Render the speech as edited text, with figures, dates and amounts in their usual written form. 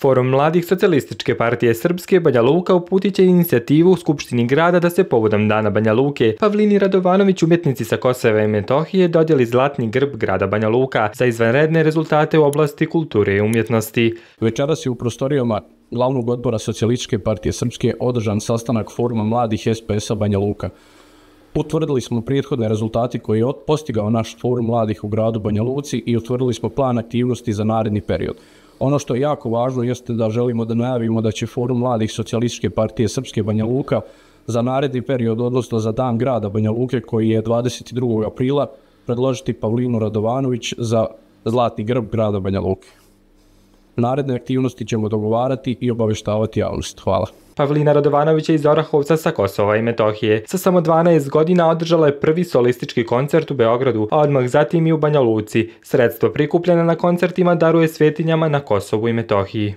Forum mladih Socijalističke partije Srpske Banja Luka uputit će inicijativu u Skupštini grada da se povodom Dana Banja Luke Pavlini Radovanović, umjetnici sa Kosova i Metohije, dodijeli zlatni grb grada Banja Luka za izvanredne rezultate u oblasti kulture i umjetnosti. Večeras je u prostorijama Glavnog odbora Socijalističke partije Srpske održan sastanak Foruma mladih SPS-a Banja Luka. Utvrdili smo prethodne rezultate koje je postigao naš Forum mladih u gradu Banja Luci i utvrdili smo plan aktivnosti za naredni period. Ono što je jako važno jeste da želimo da najavimo da će Forum mladih Socijalističke partije Srpske Banja Luka za naredni period, odnosno za Dan grada Banja Luke koji je 22. aprila, predložiti Pavlinu Radovanović za zlatni grb grada Banja Luke. Naredne aktivnosti ćemo dogovarati i obaveštavati javnost. Hvala. Pavlina Radovanović je iz Orahovca sa Kosova i Metohije. Sa samo 12 godina održala je prvi solistički koncert u Beogradu, a odmah zatim i u Banja Luci. Sredstvo prikupljeno na koncertima daruje svetinjama na Kosovu i Metohiji.